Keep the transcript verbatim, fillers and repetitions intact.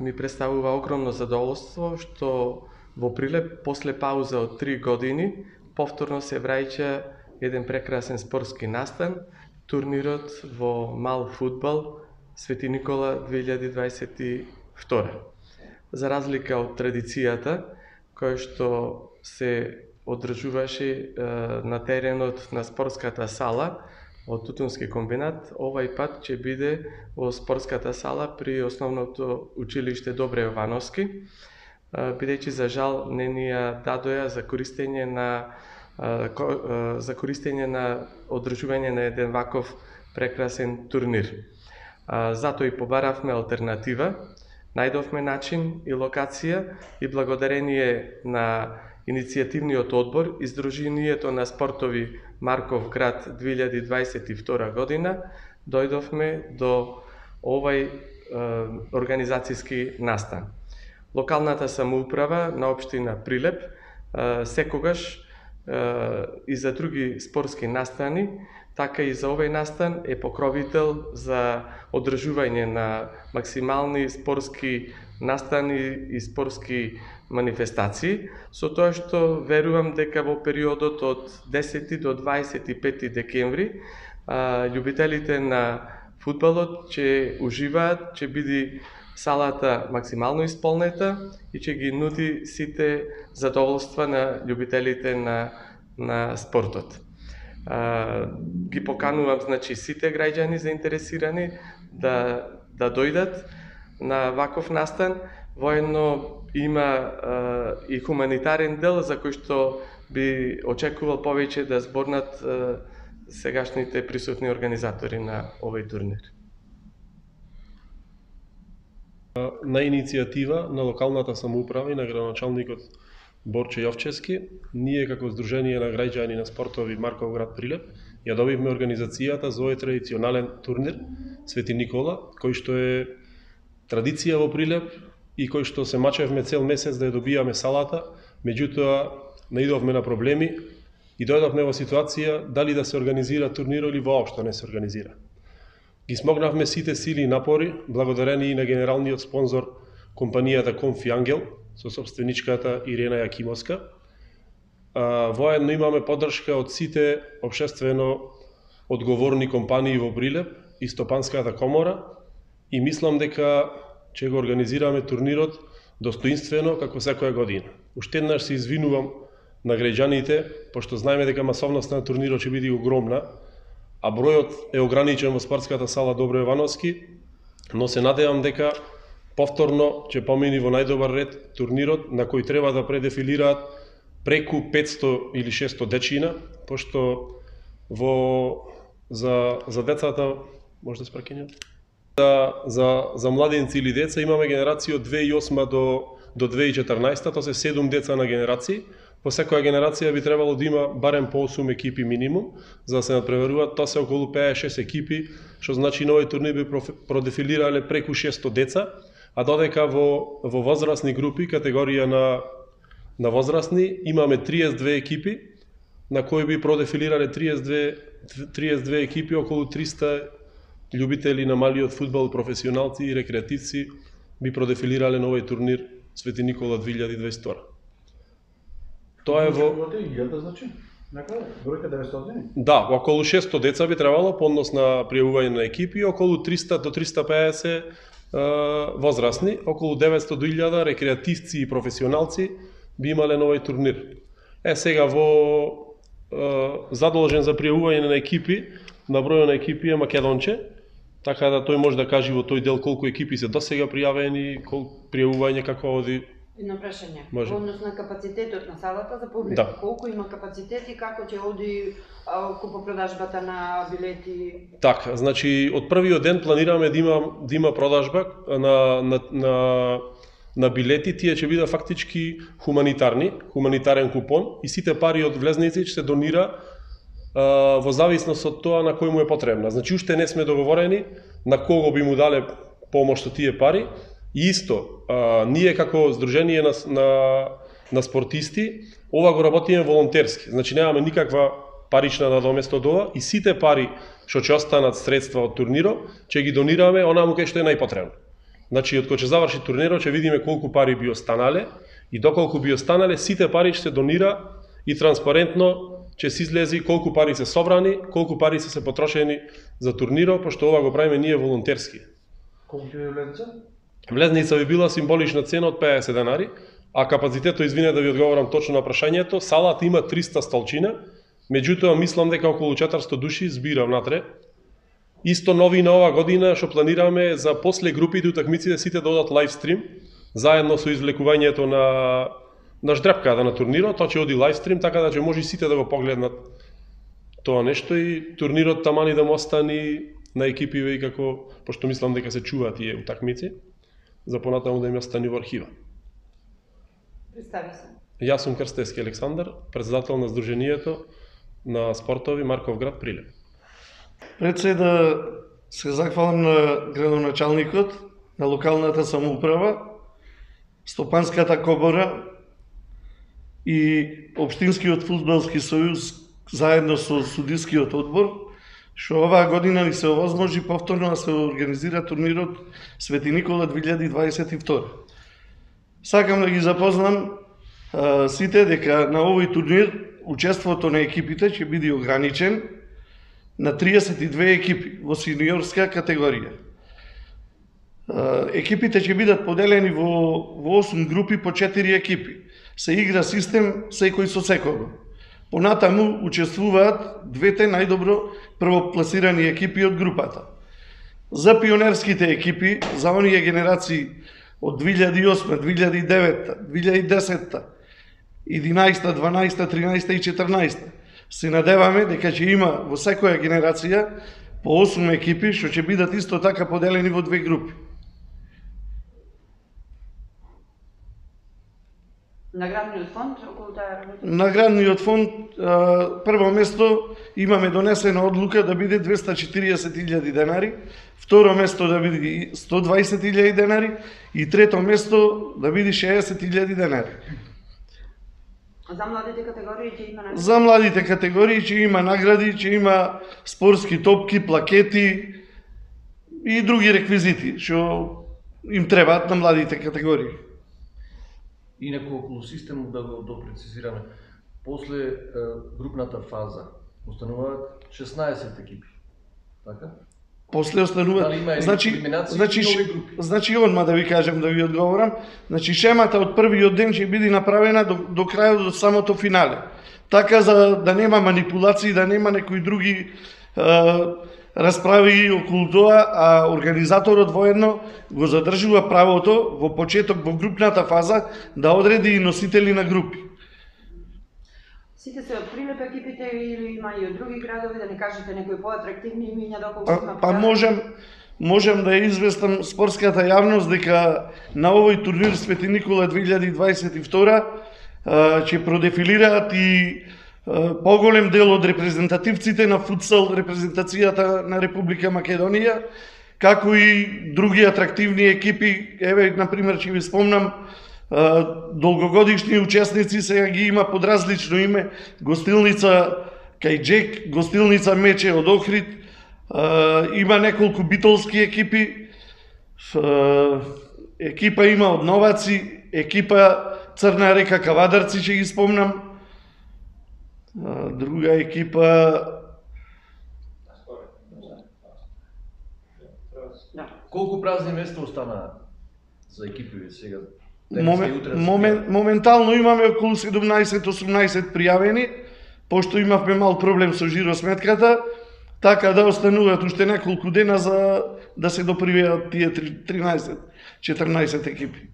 ми представува огромно задоволство што во Прилеп, после пауза од три години, повторно се враќа еден прекрасен спортски настан, турнирот во мал фудбал Свети Никола две илјади дваесет и втора. За разлика од традицијата, која што се одржуваше на теренот на спортската сала од Тутунски комбинат, овај пат ќе биде во спортската сала при основното училиште Добре Јовановски, бидејќи за жал не ни ја дадоја за користење на за користење на одржување на еден ваков прекрасен турнир. Затоа и побаравме алтернатива, најдовме начин и локација и благодарение на иницијативниот одбор и Сдруженијето на спортови Марков град две илјади дваесет и втора година дојдовме до овај е, организацијски настан. Локалната самоуправа на општина Прилеп е, секогаш е, и за други спортски настани, така и за овој настан е покровител за одржување на максимални спортски настани и спортски манифестации, со тоа што верувам дека во периодот од десети до дваесет и пети декември љубителите на фудбалот ќе уживаат, ќе биде салата максимално исполнета и ќе ги нуди сите задоволства на љубителите на, на спортот. А, ги поканувам, значи, сите граѓани заинтересирани да, да дојдат на ваков настан. Воедно има а, и хуманитарен дел за кој што би очекувал повеќе да зборнат а, сегашните присутни организатори на овој турнир. На иницијатива на локалната самоуправа и на градоначалникот Борче Јовчевски, ние како Сдружение на граѓани на спортови Марков град Прилеп ја добивме организацијата за овој традиционален турнир Свети Никола, кој што е традиција во Прилеп и кој што се мачевме цел месец да ја добијаме салата, меѓутоа наидовме на проблеми и дојдовме во ситуација дали да се организира турнир или воопшто не се организира. Ги смогнавме сите сили и напори, благодарени и на генералниот спонзор компанијата Конфи Ангел, со собственичката Ирена Јакимовска. Воедно имаме поддршка од сите општествено одговорни компании во Прилеп и Стопанската комора и мислам дека ќе го организираме турнирот достоинствено како секоја година. Уште еднаш се извинувам на граѓаните, пошто знаеме дека масовноста на турнирот ќе биде огромна, а бројот е ограничен во спортската сала Добро Јовановски, но се надевам дека повторно ќе помини во најдобар ред турнирот на кој треба да предефилираат преку петсто или шестсто дечина, пошто во за за децата може да спрекинјат. За за за младенци или деца имаме генерација од две илјади и осма до до две илјади и четрнаесета, тоа се седум деца на генерации. По секоја генерација би требало да има барем по осум екипи минимум, за да се надпреваруваат. Тоа се околу петдесет и шест екипи, што значи на овој турнир би продефилирале преку шестсто деца, а додека во во возрастни групи, категорија на на возрастни, имаме триесет и две екипи, на кои би продефилирале триесет и две екипи, околу триста љубители на малиот фудбал, професионалци и рекреативци би продефилирале на овој турнир Свети Никола две илјади дваесет и втора. Тоа е во значи? Некаде бројка деветстотини? Да, околу шестсто деца би требало по однос на пријавување на екипи, околу триста до триста и педесет возрастни, околу деветсто до илјада рекреативци и професионалци би имале на овој турнир. Е, сега во е, задолжен за пријавување на екипи, на бројот на екипи е Македонче, така да тој може да каже во тој дел колку екипи се досега пријавени, колку пријавување како оди. Едно прашање. Во однос на капацитетот на салата за публика, да. Колку има капацитет и како ќе оди купопродажбата на билети? Така, значи од првиот ден планираме да има да има продажба на на на на билети, тие ќе бидат фактички хуманитарни, хуманитарен купон и сите пари од влезници ќе се донира а, во зависност од тоа на кој му е потребна. Значи уште не сме договорени на кого би му дале помош со тие пари. И исто, а, ние како Сдружение на, на, на спортисти, ова го работиме волонтерски. Значи немаме никаква парична надомест од ова и сите пари што ќе останат средства од турнирот, ќе ги донираме онаму кај што е најпотребно. Значи, од кога ќе заврши турнирот, ќе видиме колку пари би останале и доколку би останале, сите пари ќе се донира и транспарентно ќе се излези колку пари се собрани, колку пари се се потрошени за турнирот, пошто ова го правиме ние волонтерски. Колку ќе ви влезница? Влезница би била символична цена од педесет денари, а капацитетот, извине да ви одговорам точно на прашањето, салата има триста столчина, меѓутоа мислам дека околу четиристо души збира внатре. Исто нови на ова година што планираме за после групите утакмиците сите да одат лайв стрим, заедно со извлекувањето на на ждрепката на турнирот, тоа ќе оди лайв стрим, така да ќе може сите да го погледнат тоа нешто и турнирот тамани да му остани на екипиве и како, пошто мислам дека се чуваат тие утакмици, за понатаму да им остани во архива. Представи се. Јас сум Крстевски Александар, председател на Сдруженијето на спортови Марков град Прилеп. Пред се да се захвалам на градоначалникот, на локалната самоуправа, Стопанската комора и Општинскиот фудбалски сојуз заедно со судискиот одбор, што оваа година ни се овозможи повторно да се организира турнирот Свети Никола две илјади дваесет и втора. Сакам да ги запознам а, сите дека на овој турнир учеството на екипите ќе биде ограничен на триесет и две екипи во сениорска категорија. Екипите ќе бидат поделени во, во осум групи по четири екипи. Се игра систем секој со секого. Понатаму учествуваат двете најдобро првопласирани екипи од групата. За пионерските екипи, за оние генерации од две илјади и осма, две илјади и девета, две илјади и десета, единаесета, дванаесета, тринаесета и четрнаесета, се надеваме дека ќе има во секоја генерација по осум екипи, што ќе бидат исто така поделени во две групи. Наградниот фонд околу таа работа? Наградниот фонд, прво место имаме донесена одлука да биде двеста четириесет илјади денари, второ место да биде сто дваесет илјади денари и трето место да биде шеесет илјади денари. За младите категории ќе има награди? За младите категории ќе има награди, ќе има спортски топки, плакети и други реквизити што им требаат на младите категории. Инаку околу системот да го допрецизираме. После е, групната фаза остануваат шеснаесет екипи. Така? После остануваат. Дали има значи, елиминација значи, и нови групи? значи одма да ви кажем, да ви одговорам. Значи шемата од првиот ден ќе биде направена до, до крајот, до самото финале. Така за да нема манипулации, да нема некои други е, расправи околу тоа, а организаторот воедно го задржува правото во почеток во групната фаза да одреди и носители на групи. Сите се од Прилеп екипите или има и од други градови, да не кажете некои поатрактивни имиња доколку Па, има? па можем можем да ја известам спортската јавност дека на овој турнир Свети Никола две илјади дваесет и втора ќе продефилираат и поголем дел од репрезентативците на футсал репрезентацијата на Република Македонија, како и други атрактивни екипи. Еве, например, ќе ви спомнам, долгогодишни учесници сега ги има под различно име: Гостилница Кајџек, Гостилница Мече од Охрид, има неколку битолски екипи, екипа има од Новаци, екипа Црна река Кавадарци ќе ги спомнам, друга екипа Колку празни места останаа за екипи сега? Момен, момен, моментално имаме околу седумнаесет осумнаесет пријавени, пошто имавме мал проблем со жиросметката, така да остануваат уште неколку дена за да се допривеат тие тринаесет четрнаесет екипи.